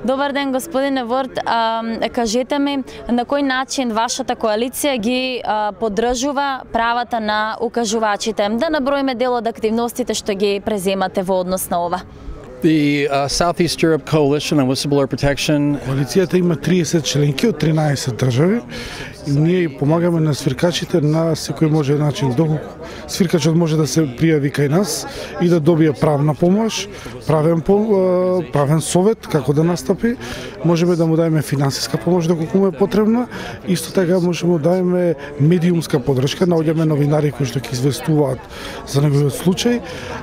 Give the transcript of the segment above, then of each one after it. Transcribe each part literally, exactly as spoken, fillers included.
Добар ден, господине Ворд. А, кажете ми на кој начин вашата коалиција ги а, поддржува правата на укажувачите? Да наброиме дел од активностите што ги преземате во однос на ова. The uh, Southeast Europe Coalition on Whistleblower Protection. Коалицијата има триесет членки од тринаесет држави и ние помагаме на свиркачите на секој може начин. Доколку свиркачот може да се пријави кај нас и да добие правна помош, правен правен совет како да настапи, можеме да му дадеме финансиска помош доколку му е потребна, исто така можеме да дадеме медиумска поддршка, наоѓаме новинари кои што ќе известуваат за неговиот случај,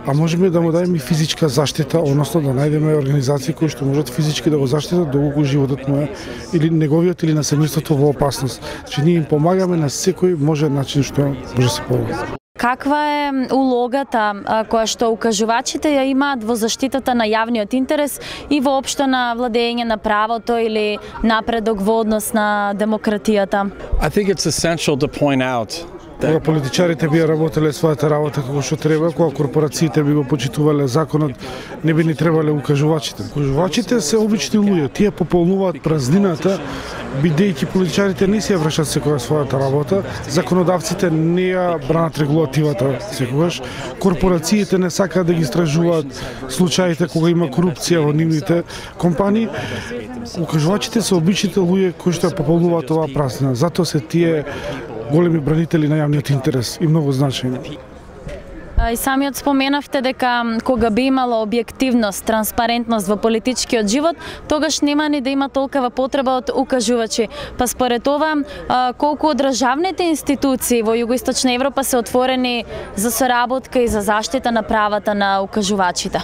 а можеме да му дадеме и физичка заштита, односно да најдеме организации кои што можат физички да го заштитат доколку животот му е или неговиот или на семејството во опасност. Значи ние им помагаме на секој може начин што може да се помага. Каква е улогата која што укажувачите ја имаат во заштитата на јавниот интерес и воопшто на владење на правото или напредок во однос на демократијата? I think it's essential to point out Кога политичарите би работеле својата работа како што треба, кога корпорациите би го почитувале законот, не би ни требале укажувачите. Укажувачите се обични луѓе, тие пополнуваат празнината, бидејќи политичарите не си ја вршат секоја својата работа, законодавците не ја бранат регулативата секогаш, корпорациите не сакаат да ги истражуваат случаите кога има корупција во нивните компании. Укажувачите се обичните луѓе кои што ја пополнуваат оваа празнина. Затоа се тие големи бранители на јавниот интерес и многу значајни. И самиот споменавте дека кога би имало објективност, транспарентност во политичкиот живот, тогаш нема ни да има толкова потреба од укажувачи. Па според ова, колку од државните институции во Југоисточна Европа се отворени за соработка и за заштита на правата на укажувачите?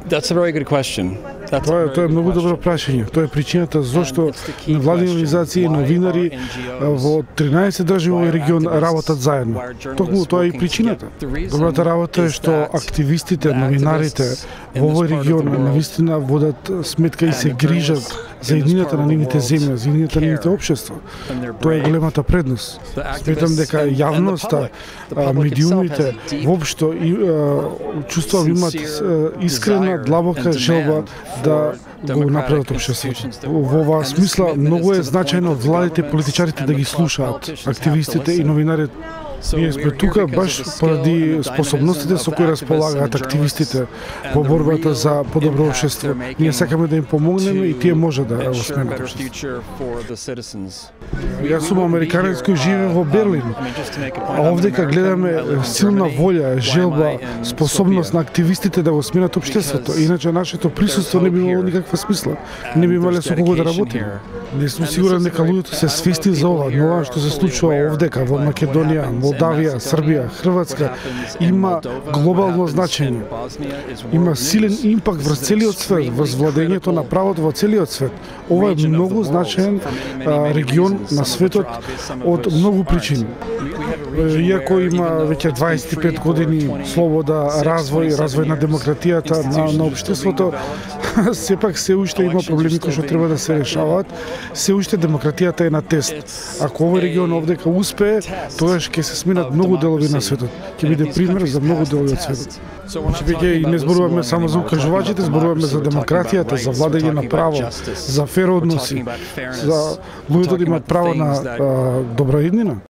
That's a very good question. Тоа е, тоа е многу добро прашање. Тоа е причината зошто невладини организации и новинари во тринаесет држави во регион работат заедно. Токму тоа е и причината. Добрата работа е што активистите, новинарите во овој регион навистина водат сметка и се грижат за еднината на нивните земја, за еднината на нивните општества. Тоа е големата предност. Сметам дека јавноста, медиумите воопшто и чувствувам имат искрена, длабока желба да го направат општеството. Во оваа смисла многу е значајно владите и политичарите да ги слушаат активистите и новинарите. Ние сме тука баш поради способностите со кои располагаат активистите во борбата за подобро општество. Ние сакаме да им помогнеме и тие може да го сменат општеството. Јас сум американец кој живее во Берлин. А овдека гледаме силна волја, желба, способност на активистите да го сменат општеството. Иначе нашето присуство не би имало никаква смисла. Не би имале со кого да работиме. Не сум сигурен дека луѓето се свесни за ова, но ова што се случува овдека во Македонија, Молдавија, Србија, Хрватска има глобално значење. Има силен импакт врз целиот свет, врз владењето на правото во целиот свет. Ова е многу значаен а, регион на светот од многу причини. Иако има веќе дваесет и пет години слобода, развој, развој на демократијата, на, на општеството, сепак се уште има проблеми кои што треба да се решаваат. Се уште демократијата е на тест. Ако овој регион овдека успее, тогаш ќе се сменат многу делови на светот. Ќе биде пример за многу делови од светот. Значи веќе и не зборуваме само за укажувачите, зборуваме за демократијата, за владење на право, за фер односи, за луѓето да имаат право на а, добра иднина.